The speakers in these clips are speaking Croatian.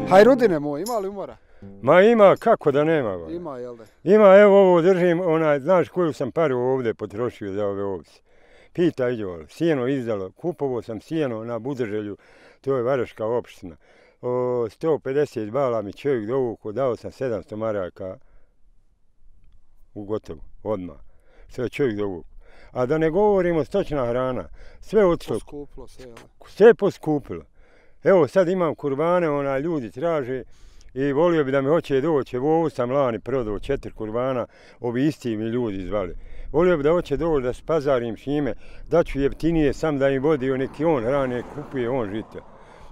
Hajrudine moj, ima li umora? Ma ima, kako da nema. Ima, jel da? Ima, evo ovo držim, znaš koju sam paru ovdje potrošio za ove ovce. Pita iđo, sjeno izdalo, kupovao sam sjeno na Budeželju, to je Varaška opština. 150 bala mi čovjek dovukao, dao sam 700 maraka u gotovo, odmah. Sve čovjek dovukao. A da ne govorimo stočna hrana, sve otišlo. Poskupilo sve, jel? Sve poskupilo. Evo sad imam kurbane, ljudi traže i volio bi da mi hoće doći. Evo ovo sam lani prodao 4 kurbana, ovi isti mi ljudi zvali. Volio bi da hoće doći da spazarim s njime, da ću jeftinije sam da im vodio neki on hrane, kupuje on žita.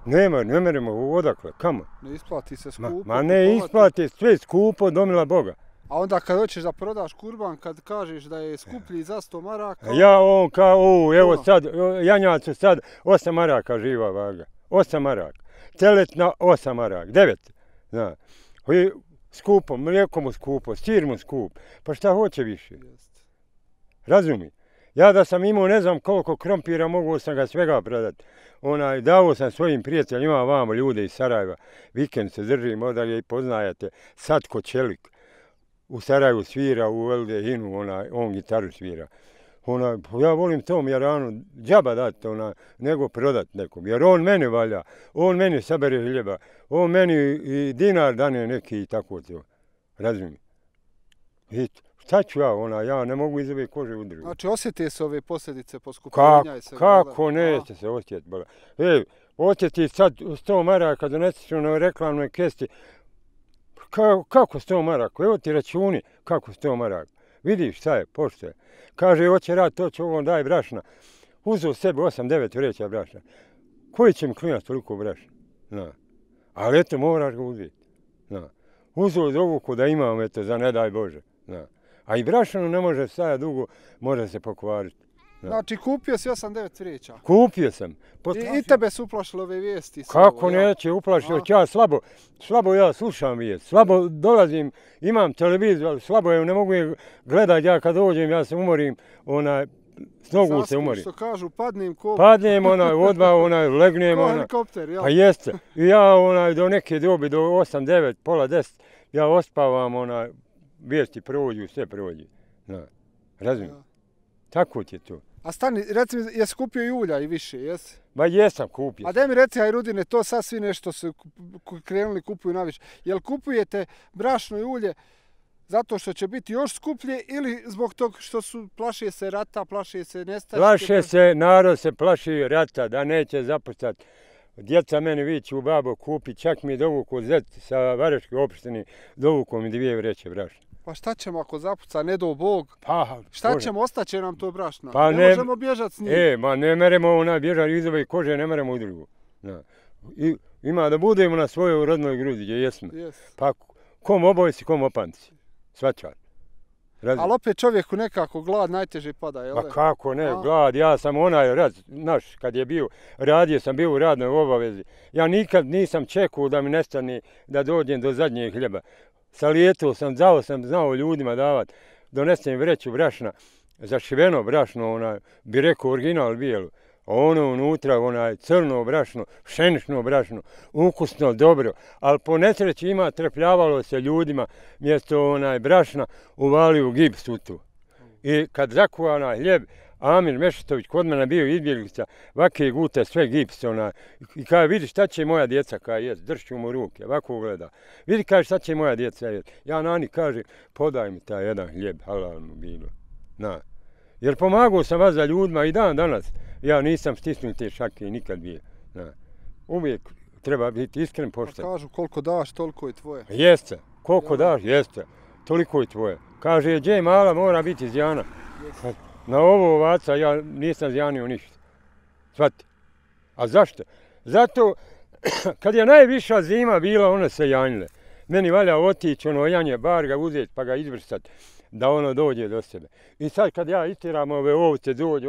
Ne meremo odakle, kamo? Ne isplati se skupo. Ma ne isplati, sve skupo, domila Boga. A onda kad hoćeš da prodaš kurban, kad kažeš da je skuplji za 100 maraka... Ja on kao, evo sad, janjacu sad 8 maraka živa vaga. 8 maraka. Teletna 8 maraka. 9. Zna. Skupo, mlijeko mu skupo, sir mu skup. Pa šta hoće više? Razumi. Ja da sam imao ne znam koliko krompira, mogu sam ga svega prodati. Dao sam svojim prijateljima, vamo ljude iz Sarajeva. Vikend se držimo, da je i poznajete. Satko Čelik. U Sarajevu svira, u Eldehinu, on gitaru svira. Ja volim tom Jaranu džaba dati, nego prodat nekom. Jer on meni valja, on meni sabere hljeba, on meni i dinar dane neki i tako to. Razumiješ? I šta ću ja ne mogu iz ove kože udružiti. Znači osjeti se ove posljedice poskupljenja? Kako neće se osjetiti? Osjeti sad 100 maraka doneseš na reklamnoj kesti. Kako 100 maraka? Evo ti računi kako 100 maraka. Vidiš šta je, pošto je. Kaže, hoće rad, to će ovom daj brašna. Uzeo sebi 8-9 vreća brašna. Koji će mi klijent toliko brašna? Ali eto, moraš ga uzeti. Uzeo dovuku da imam, eto, za ne daj Bože. A i brašnu ne može stajati dugo, može se pokvariti. Znači, kupio si 8-9 vreća? Kupio sam. I tebe su uplašile ove vijesti? Kako neće uplašiti? Ja slabo ja slušam vijest. Slabo dolazim, imam televiziju, ali slabo je, ne mogu je gledati. Ja kad dođem, ja se umorim, s nogu se umorim. Što kažu, padnem ko... Padnem, odmah, legnem. Ko helikopter, jel? Pa jeste. I ja do neke dobi, do 8-9, pola 10, ja ospavam, vijesti prođu, sve prođe. Razumijem? Tako će to. A stani, reci mi, jesi kupio i ulja i više, jesi? Ba jesam kupio. A daj mi reci, Hajrudine, to sad svi nešto su krenuli kupuju naviše. Jel kupujete brašno i ulje zato što će biti još skuplje ili zbog tog što plaše se rata, plaše se nestaške? Plaše se, narod se plaši rata, da neće zapuštati. Djeca meni viću u babo kupi, čak mi je dovukao zet sa Varaške opštine, dovukao mi 2 vreće brašna. Pa šta ćemo ako zapuca, ne do Bog? Pa, šta ćemo, ostaće nam to brašna? Pa ne možemo bježati s njim. Ma ne meremo bježati iz ove kože, ne meremo u drugu. Ima da budemo na svojoj rodnoj grudi, gdje jesmo. Pa kom obojci, kom opanci. Svačar. Ali opet čovjeku nekako glad najteže pada, jel? Pa kako ne, glad, ja sam znaš, kad je bio, radio sam bio u radnoj obavezi. Ja nikad nisam čekao da mi nestane da dođem do zadnjeg hljeba. Salijetao sam, znao ljudima davati, donesem vreću brašna, zašiveno brašno, bi rekao original bijelo. Unutra, crno brašno, pšenično brašno, ukusno, dobro. Ali po nesreći trpljavalo se ljudima, mjesto brašna uvali u gips u tu. I kad zakuva hljeb, Amir Mešetović kod mene bio izbjeglica, vake gute sve gips, i kaže, vidi šta će moja djeca kaj jest, dršću mu ruke, ovako gleda. Vidi, kaže, šta će moja djeca jest. Ja nani kaže, podaj mi taj jedan hljeb, halal mu bilo. Jer pomagao sam vas za ljudima i dan danas, ja nisam stisnuo te šake nikad bio. Uvijek treba biti iskren, pošten. Pa kažu, koliko daš, toliko je tvoje. Jeste, koliko daš, jeste, toliko je tvoje. Kaže, gdje mala mora biti zjana. Na ovo ovaca ja nisam zjanio ništa. Shvati. A zašto? Zato, kad je najviša zima bila, one se janjile. Meni valja otići, janje, bar ga uzeti pa ga izvrstat, da dođe do sebe. I sad kad ja istiram ove ovce, dođe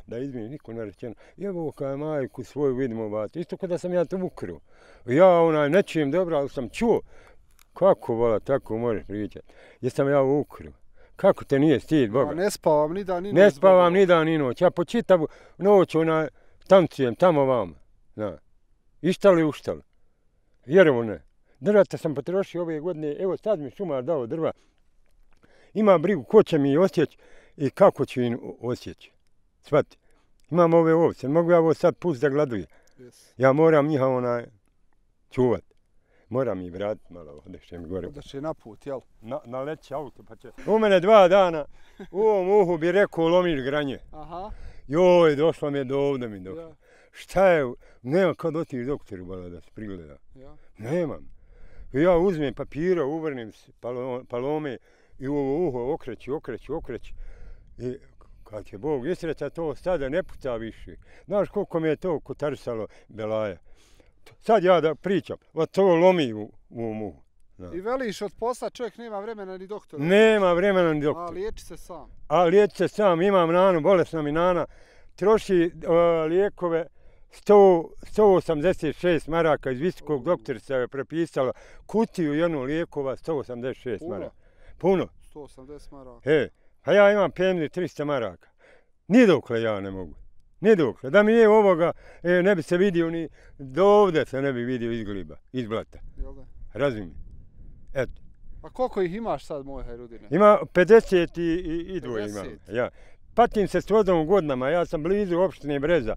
da izmije, niko ne rečeno, evo kaj majku svoju vidimo ovati. Isto kada sam ja to ukrao. Ja ne čujem dobro, ali sam čuo. Kako vola, tako možeš pričati. Jesam ja ukrao. Kako te nije stid, Boga? Ne spavam ni dan ni noć. Ne spavam ni dan ni noć. Ja po čitavu noć tancujem tamo vama. Ištali uštali. Vjerovo ne. Drvata sam potrošio ove godine. Evo sad mi šumar dao drva. Ima brigu ko će mi osjeći i kako ću im osjeći. Svati. Imam ove ovce. Mogu ja ovo sad pust da gladuje. Ja moram njih čuvat. Moram ih vratiti malo, odeće mi gore. Odeće na put, jel? Naleći auto pa će. U mene 2 dana u ovom uhu bi rekao lomiš granje. Aha. Joj, došla mi je do ovdje mi došla. Ja. Šta je, nema kad otiš doktoru bala da se prigleda. Ja. Nemam. I ja uzmem papira, uvrnim palome i u ovo uho okreći. I kad će Bog isreća to sada ne puca više. Znaš koliko mi je to kotarsalo belaja. Sad ja da pričam, to lomi u uhu. I veliš od posla čovjek nema vremena ni doktora? Nema vremena ni doktora. A liječi se sam? A liječi se sam, imam nanu, bolesna mi nana. Troši lijekove 186 maraka iz visokog doktorica je prepisala kutiju jednu lijekova 186 maraka. Puno. 180 maraka. A ja imam pemni 300 maraka. Nidokle ja ne mogu. Nidokle. Da mi je ovoga, ne bi se vidio ni do ovdje se ne bi vidio iz gliba, iz blata. Jel da? Razumim. Eto. A koliko ih imaš sad, moj Hajrudine? Ima 52 imam. Ja. Patim se s vodom godinama, ja sam blizu opštine Breza.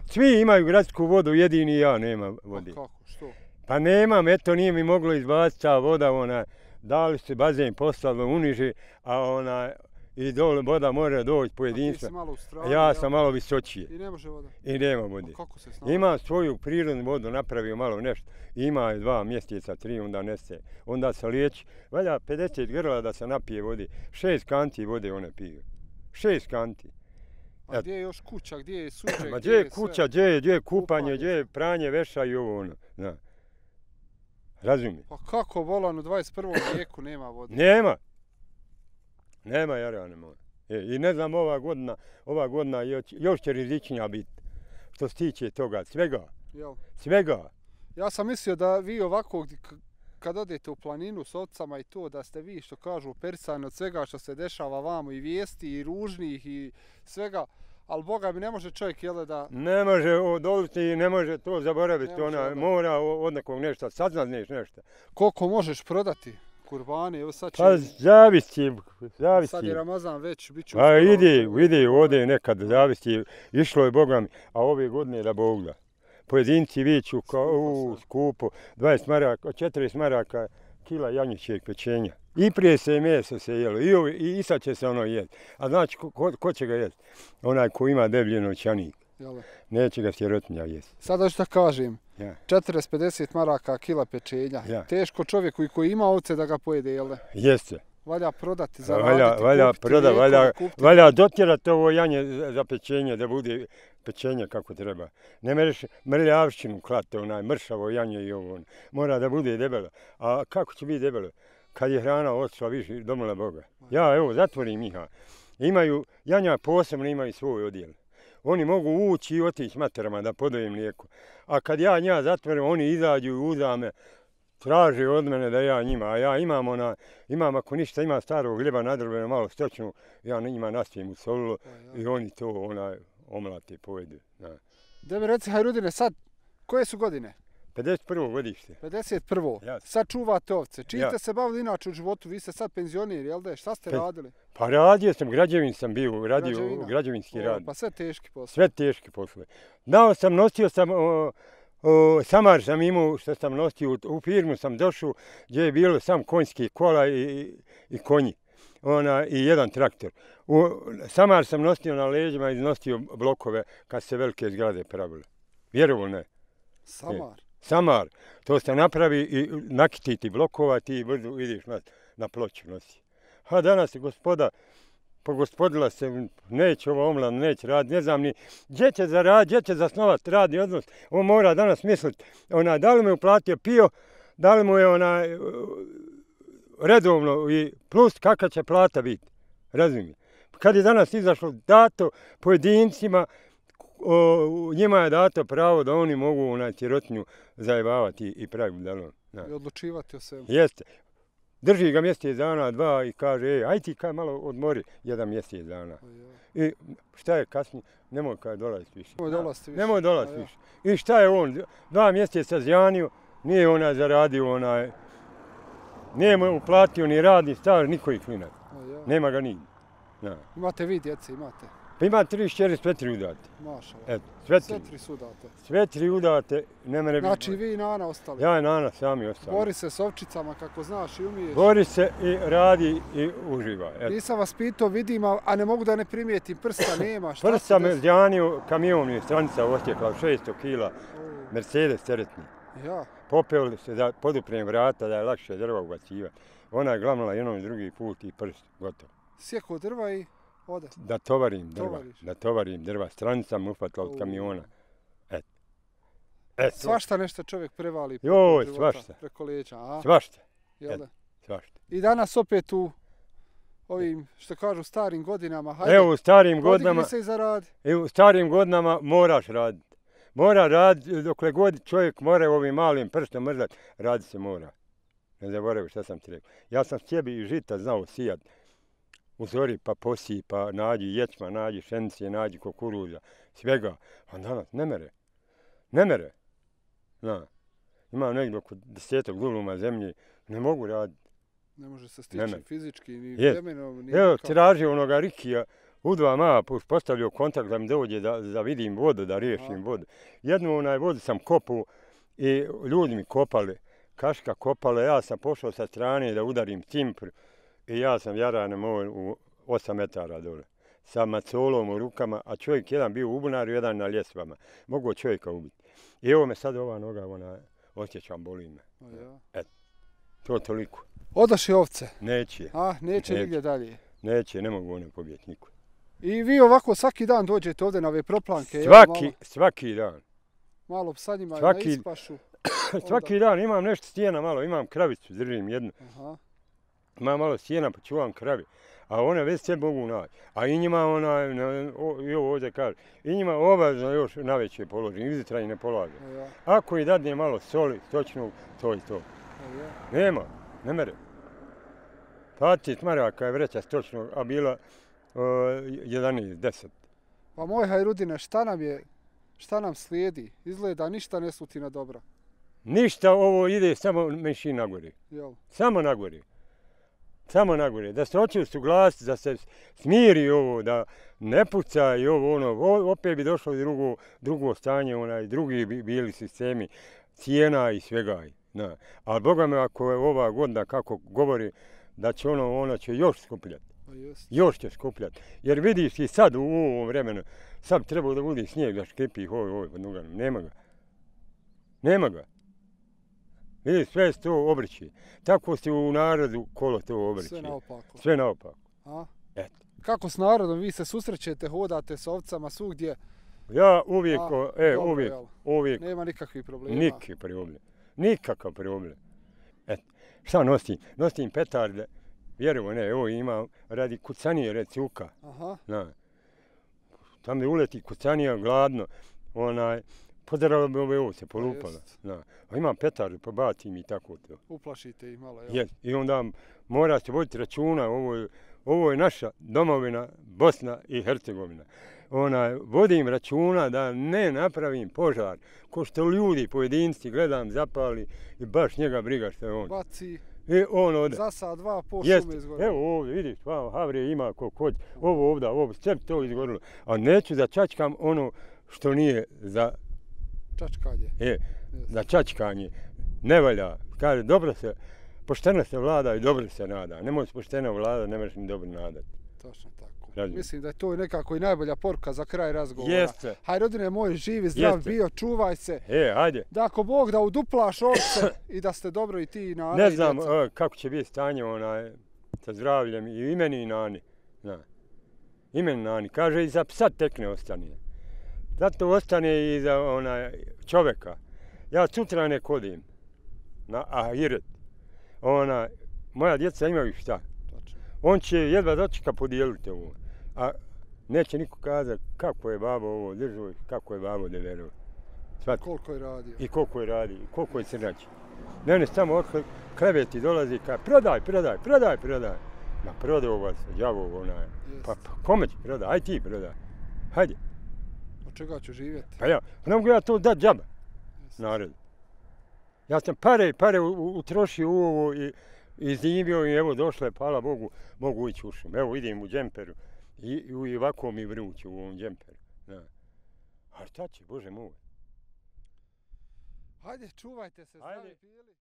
Svi imaju gradsku vodu, jedini ja nema vode. A kako, što? Pa nemam, eto nije mi moglo izbaciti ta voda, dali se bazen poslalo uniže, a i dole voda mora doći pojedinstva. A ti si malo u strani, ja sam malo visočije. I ne može voda? I nema vode. A kako se snalazi? Ima svoju prirodnu vodu, napravio malo nešto. Ima 2 mjeseca, 3, onda nese. Onda se liječi. Valja 50 grla da se napije vode. 6 kanti vode one piju. 6 kanti. A gdje je još kuća, gdje je suđe, gdje je kuća, gdje je kupanje, gdje je pranje veša i ovo Da. Razumije. Pa kako volan u 21. vijeku nema vode? Nema Jarane moja. I ne znam ova godina još će rizičnija biti. Što se tiče toga, svega. Jel? Svega. Ja sam mislio da vi ovako, kad odete u planinu s ovcama i to, da ste vi, što kažu, persani od svega što se dešava vamo, i vijesti, i ružnih, i svega, ali Boga mi ne može čovjek, jel da... Ne može odoliti i ne može to zaboraviti, mora od nekog nešto, saznat nešto. Koliko možeš prodati kurbane, evo sad će... Pa zavisi. Sad je Ramazan već, bit ću... Pa ide, ode nekad, zavisi, išlo je Boga mi, a ove godine da Bog da. Pojedinci viću kao skupo, 20 maraka, 40 maraka kila janjićeg pečenja. I prije se meso se jelo, i sad će se ono jesti. A znači, ko će ga jesti? Onaj ko ima deblji novčanik. Neće ga sirotinja jesti. Sada što kažem, 40-50 maraka kila pečenja. Teško čovjeku i koji ima ovce da ga pojede, jel da? Jeste. Valja prodati, zaraditi, valja dotjerati ovo janje za pečenje, da bude pečenje kako treba. Ne mereš mrljavštinu klati, mršavo janje i ovo. Mora da bude debelo. A kako će biti debelo? Kad je hrana otišla više, domila Boga. Ja, evo, zatvorim ih. Janja posebno imaju svoj odjel. Oni mogu ući i otići materama da podojem mlijeko. A kad ja nja zatvorim, oni izađu i uzame. Traže od mene da ja njima, a ja imam ako ništa, ima starog hljeba nadrobeno, malo stočnu, ja njima nastijem u solilo i oni to omlate, pojedu. Da mi reci, Hajrudine, sad, koje su godine? 51. godište. 51. Sad čuvate ovce. Čim ste se bavili inače u životu, vi ste sad penzioneri, jel da? Šta ste radili? Pa radio sam, građevin sam bio, radio građevinski rad. Pa sve teški poslovi. Sve teški poslovi. Nosio sam... Samar sam imao što sam nosio, u firmu sam došao gdje je bilo sam konjski kola i konji i jedan traktor. Samar sam nosio na leđima i nosio blokove kad se velike zgrade pravile. Vjerovo ne. Samar? Samar. To se napravi i nakititi blokova, ti brzo ideš na ploču nosi. A danas je gospoda pogospodila se, neće ovo omlan, neće raditi, ne znam ni gdje će zaraditi, gdje će zasnovati radni odnos. On mora danas misliti, da li mu je uplatio PIO, da li mu je redovno i plus kakva će plata biti. Razumije. Kad je danas izašlo dato pojedincima, njima je dato pravo da oni mogu sirotinju zajebavati i praviti budalom. I odlučivati o svemu. Jeste. Drži ga mjesec dana, dva i kaže, aj ti kaj malo odmori, jedan mjesec dana. I šta je kasnije? Nemoj kaj dolaziti više. Nemoj dolaziti više. I šta je on? 2 mjeseca zjanio, nije onaj zaradio onaj, nije mu uplatio ni radni staž, niko ih klinac. Nema ga nigdje. Imate vi djece, imate? Pa ima 3 šćeri, sve 3 udate. Mašala. Sve 3 su udate. Sve 3 udate, ne mene... Znači vi i Nana ostali? Ja i Nana sami ostali. Bori se s ovčicama kako znaš i umiješ. Bori se i radi i uživa. Nisam vas pitao, vidim, a ne mogu da ne primijetim, prsta nema. Prsta me zjanio, kamion je stranica ostekla, 600 kila, Mercedes teretni. Ja. Popeo se da poduprem vrata, da je lakše drva ubacivati. Ona je glamnala jednom i drugi put i prst, gotovo. Sjekao drva i ode? Da tovarim drva, stranica mu uhvatila od kamiona. Svašta nešto čovjek prevali preko leđa, a? Svašta. Svašta. I danas opet u ovim, što kažu, starim godinama, hajde, evo, u starim godinama, se i zaradi. U starim godinama moraš raditi. Mora raditi, dokle god čovjek mora ovim malim prstom mrzati, raditi se mora. Ne zaboravim šta sam ti rekao. Ja sam sjebi i žita znao sijat. U zori pa posiji, pa nađi ječma, nađi šenice, nađi kukuruza, svega. A danas ne mere. Ne mere. Imam negdje oko 10 duluma zemlje, ne mogu raditi. Ne može se stići fizički, ni vremenom, ni... Evo, tražio onoga Rikija, u 2 mapa postavljao kontakt da mi dođe da vidim vodu, da riješim vodu. Jednu vodu sam kopao i ljudi mi kopali, kaška kopala, ja sam pošao sa strane da udarim cimpr i ja sam jarane moj u 8 metara dole. Sa macolom u rukama, a čovjek jedan bio u bunaru, jedan na ljesvama. Mogu čovjeka ubiti. I evo me sad ova noga, osjećam, boli me. To toliko. Odaši ovce? Neće. Neće nigdje dalje? Neće, ne mogu one pobijeti niko. I vi ovako svaki dan dođete ovdje na ove proplanke? Svaki dan. Malo sa njima na ispašu? Svaki dan imam nešto stijena malo, imam kravicu, držim jednu. Imam malo stijena pa čuvam kravi. A one već sve mogu naći. A i njima i ovo ovdje kaže, i njima obavezno još naveće položim, izjutra i ne polažem. Ako i dadne malo soli, stočnog, to i to. Nema, ne mere. 20 maraka je vreća stočnog, a bila 11, 10. Pa moj Hajrudine, šta nam slijedi? Izgleda ništa ne sluti na dobra. Ništa, ovo ide samo menši nagori. Samo nagori. Samo nagore, da se hoće usuglasiti, da se smiri ovo, da ne puca i ovo, opet bi došlo drugo stanje, drugi bi bili sistemi, cijena i svega. Ali Boga me, ako je ova godina, kako govori, da će ona će još skupljati. Još će skupljati. Jer vidiš i sad u ovom vremenu, sad treba da bude snijeg, da škripi pod nogama. Nema ga. Nema ga. Vidiš, sve se to obrći. Tako se u narodu kolo to obrći. Sve naopako. Kako s narodom? Vi se susrećete, hodate s ovcama svugdje? Ja uvijek. Nema nikakvih problema? Nikakav problem. Šta nosim? Nosim petarde. Vjerujem, evo imam radi kucanije, red cuka. Tamo je uleti kucanija, gladno. Podarala bi ove ovce, polupala. Imam petarde, pobacim i tako to. Uplašite ih malo, jel? I onda mora se voditi računa, ovo je naša domovina, Bosna i Hercegovina. Vodim računa da ne napravim požar, ko što ljudi, pojedinci, gledam, zapali i baš njega briga što je on. Baci, zasa 2 po šume izgorilo. Evo ovdje, vidiš, havrije ima kod, ovo ovdje, sve to izgorilo. A neću da čačkam ono što nije za čačkanje. Za čačkanje. Ne valja. Kaže, dobro se, pošteno se vlada i dobro se nada. Ne možeš pošteno vlada, ne možeš ni dobro nadati. Točno tako. Mislim da je to nekako i najbolja poruka za kraj razgovora. Jeste. Hajrodine moj, živi, zdrav bio, čuvaj se. Ajde. Da ako Bog da uduplaš ovce i da ste dobro i ti i Nana. Ne znam kako će biti stanje sa zdravljem i imeni i Nani. Imeni Nani. Kaže i za psa tekne ostane. Zato ostane i za čovjeka. Ja sutra ne kodim na ahiret. Moja djeca imaju šta. On će jedva dočeka podijeliti ovo. A neće niko kazati kako je babo ovo držao, kako je babo deverao. Koliko je radio. I koliko je radio, i koliko je crnači. Meni samo kleveti dolazi kao prodaj. Ma prodao vas, đavo onaj. Pa kome će prodaj? Aj ti prodaj. Hajde. Od čega ću živjeti? Pa ja, ne mogu ja to dat džaba. Narodu. Ja sam pare utrošio u ovo i zimio i evo došle, hvala Bogu, mogu ići u šum. Evo idem u džemperu i ovako mi vruće u ovom džemperu. Da. A šta će, Bože moj? Hajde, čuvajte se, zdravi pili.